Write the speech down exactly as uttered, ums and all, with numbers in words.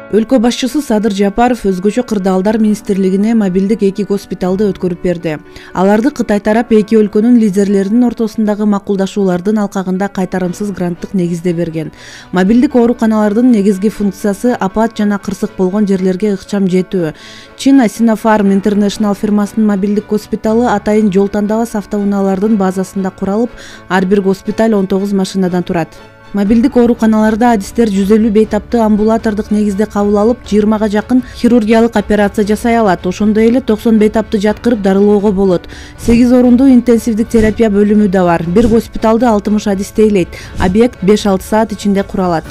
Өлкө башчысы Садыр Жапаров өзгөчө кырдаалдар министрлигине мобилдик эки госпиталды өткөрүп берди. Аларды Кытай тарап эки өлкөнүн лидерлеринин ортосундагы макулдашуулардын алкагында кайтарымсыз гранттык негизде берген. Мобилдик ооруканалардын негизги функциясы апат жана кырсык болгон жерлерге ыкчам жетүү. Чина Sinopharm International фирмасынын мобилдик госпиталы атайын жол тандабас автоунаалардын базасында куралып, ар бир госпиталь он тогуз машинадан турат. Мобилдик ооруканаларда адистер жүз элүү бейтаптуу амбулатордук негизде кабыл алып, жыйырмага жакын хирургиялык операция жасай алат. Ошондой эле токсон бейтапты жаткырып дарылоого болот. сегиз орундуу интенсивдик терапия бөлүмү да бар. Бир госпиталды алтымыш адис тейлейт. Объект беш алты саат ичинде куралат.